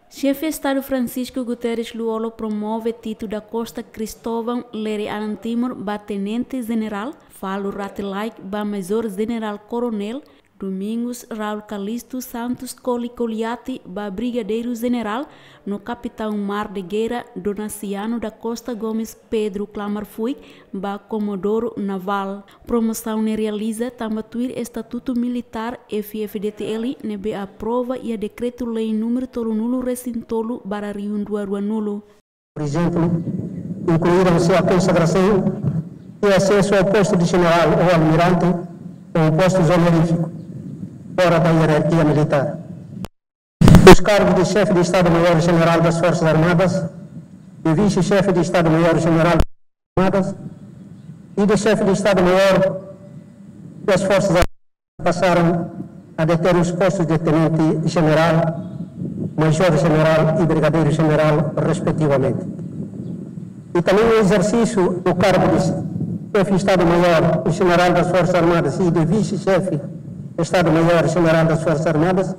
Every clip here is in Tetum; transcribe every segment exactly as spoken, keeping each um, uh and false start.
Xefe Estadu Francisco Guterres Lú-Olo promove Tito da Costa Cristóvão Lere Anan Timor ba Tenente Jenerál, Falo Rate Laek ba Major Jenerál Koronél, Domingos Raul Calixto Santos Koli Koliati ba Brigadeiru Jenerál, no Kapitaun Mar de Guerra Donaciano da Costa Gomes Pedro Klamar Fuik ba Komodoro Navál. Promosaun ne'e realiza tanba tuir Estatutu Militár F-FDTL ne'ebé aprova iha Dekretu-Lei númeru tolunulu resin tolu barra rihun rua ruanulu. Por exemplo, incluíram-se a consagração e acesso ao posto de general ou almirante, com postos honoríficos, fora da hierarquia militar. Os cargos de chefe de Estado-Maior-General das Forças Armadas, de vice-chefe de Estado-Maior-General das Forças Armadas e de chefe de Estado-Maior das Forças Armadas passaram a deter os postos de tenente-general, major-general e brigadeiro-general, respectivamente. E também o exercício do cargo de chefe de Estado-Maior-General das Forças Armadas e de vice-chefe de Estado-Maior-General das Forças Armadas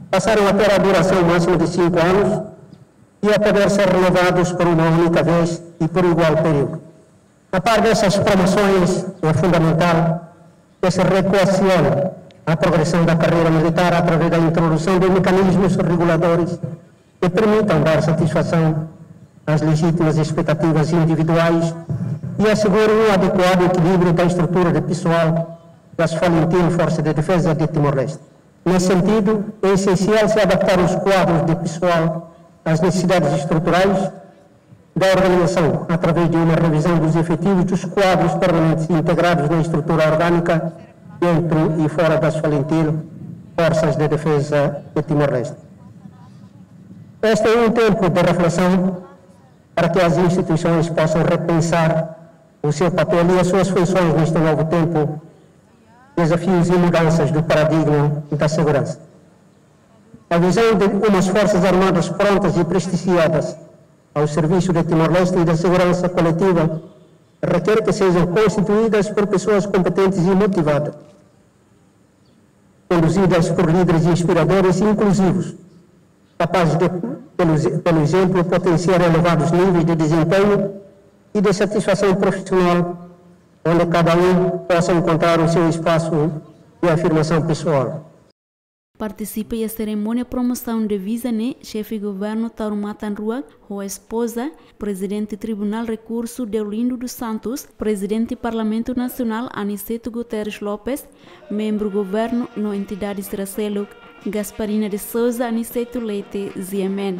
passaram a ter a duração máxima de cinco anos e a poder ser renovados por uma única vez e por igual período. A par dessas promoções, é fundamental que se reequacione a progressão da carreira militar através da introdução de mecanismos reguladores que permitam dar satisfação às legítimas expectativas individuais e assegurem um adequado equilíbrio da estrutura de pessoal das Falintil Forças de Defesa de Timor-Leste. Nesse sentido, é essencial se adaptar os quadros de pessoal às necessidades estruturais da organização, através de uma revisão dos efetivos dos quadros permanentes integrados na estrutura orgânica dentro e fora das Falintil Forças de Defesa de Timor-Leste. Este é um tempo de reflexão para que as instituições possam repensar o seu papel e as suas funções neste novo tempo, desafios e mudanças do paradigma da segurança. A visão de umas Forças Armadas prontas e prestigiadas ao serviço de Timor-Leste e da segurança coletiva requer que sejam constituídas por pessoas competentes e motivadas, conduzidas por líderes inspiradores e inclusivos, capazes de, pelo, pelo exemplo, potenciar elevados níveis de desempenho e de satisfação profissional, onde cada um possa encontrar o seu espaço de afirmação pessoal. Partisipa iha serimónia promosaun diviza ne'e, Xefe Governu Taur Matan Ruak ho espoza, Prezidente Tribunál Rekursu Deolindo dos Santos, Prezidente Parlamentu Nasionál Aniceto Guterres Lopes, membru governu no entidade sira seluk, Gasparina de Sousa, Aniceto Leite, G M N.